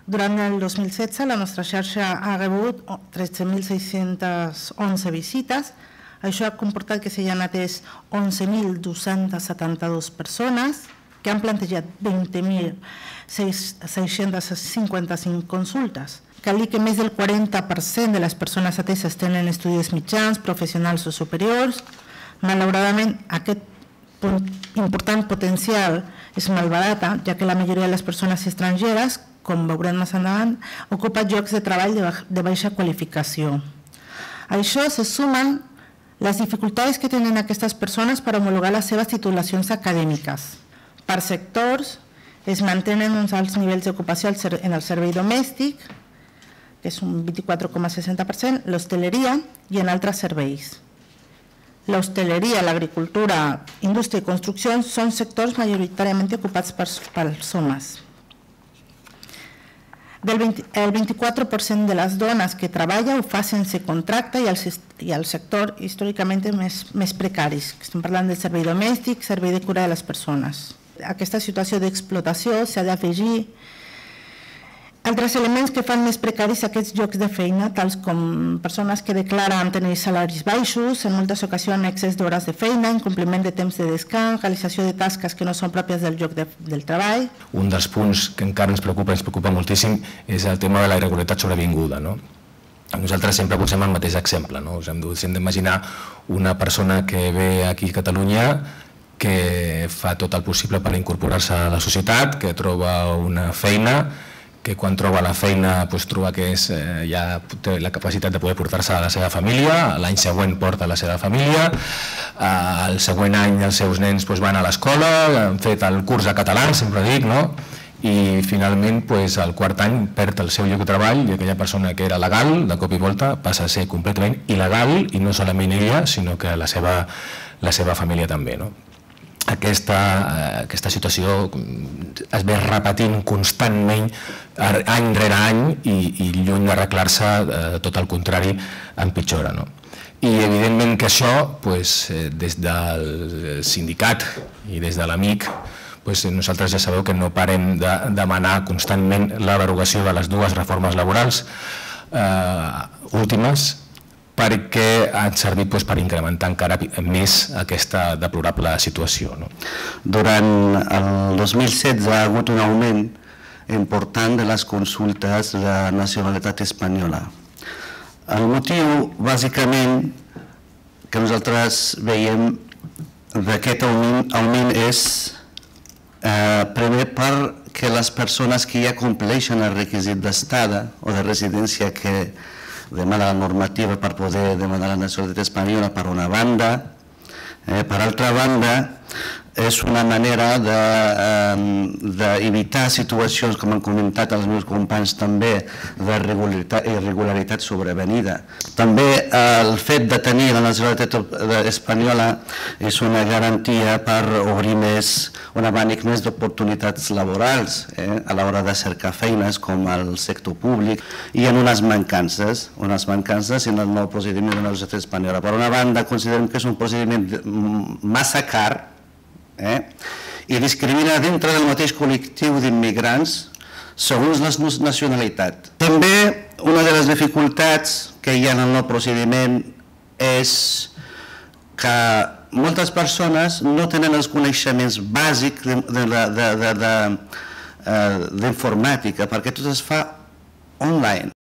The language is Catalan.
Durant el 2016, la nostra xarxa ha rebut 13.611 visites. Això ha comportat que s'hi han atès 11.272 persones, que han plantejat 20.655 consultes. Cal dir que més del 40% de les persones ateses tenen estudis mitjans, professionals o superiors. Malauradament, aquest important potencial és malbarata, ja que la majoria de les persones estrangeres, com veurem més endavant, ocupa llocs de treball de baixa qualificació. A això se sumen les dificultats que tenen aquestes persones per homologar les seves titulacions acadèmiques. Per sectors, es mantenen uns alts nivells d'ocupació en el servei domèstic, que és un 24,60%, l'hostaleria i en altres serveis. L'hostaleria, l'agricultura, indústria i construcció són sectors majoritàriament ocupats pels homes. El 24% de les dones que treballa ho fa sense contracte i el sector històricament més precaris. Estem parlant del servei domèstic, servei de cura de les persones. Aquesta situació d'explotació s'ha d'afegir altres elements que fan més precaris aquests llocs de feina, tals com persones que declaren tenir salaris baixos, en moltes ocasions excés d'hores de feina, incompliment de temps de descans, realització de tasques que no són pròpies del lloc del treball. Un dels punts que encara ens preocupa moltíssim, és el tema de la irregularitat sobrevinguda. Nosaltres sempre posem el mateix exemple. Us hem d'imaginar una persona que ve aquí a Catalunya, que fa tot el possible per incorporar-se a la societat, que troba una feina, que quan troba la feina troba que ja té la capacitat de poder portar-se a la seva família, l'any següent porta a la seva família, el següent any els seus nens van a l'escola, han fet el curs de català, sempre dic, i finalment el quart any perd el seu lloc de treball i aquella persona que era legal, de cop i volta, passa a ser completament il·legal, i no solament ella, sinó que la seva família també. Aquesta situació es ve repetint constantment any rere any i lluny d'arreglar-se, tot el contrari, empitjora. I evidentment que això, des del sindicat i des de l'AMIC, nosaltres ja sabeu que no parem de demanar constantment la derogació de les dues reformes laborals últimes, perquè han servit per incrementar encara més aquesta deplorable situació. Durant el 2016 ha hagut un augment important de les consultes de nacionalitat espanyola. El motiu, bàsicament, que nosaltres veiem d'aquest augment és primer perquè les persones que ja compleixen el requisit d'estada o de residència que demana la normativa per poder demanar la nacionalitat espanyola, per una banda. Per altra banda, és una manera d'evitar situacions, com han comentat els meus companys també, d'irregularitat sobrevenida. També el fet de tenir la nacionalitat espanyola és una garantia per obrir un abanic més d'oportunitats laborals a l'hora de cercar feines com al sector públic. Hi ha unes mancances en el nou procediment de la nacionalitat espanyola. Per una banda, considerem que és un procediment massa car i discrimina dintre del mateix col·lectiu d'immigrants segons la nacionalitat. També una de les dificultats que hi ha en el nou procediment és que moltes persones no tenen els coneixements bàsics d'informàtica perquè tot es fa online.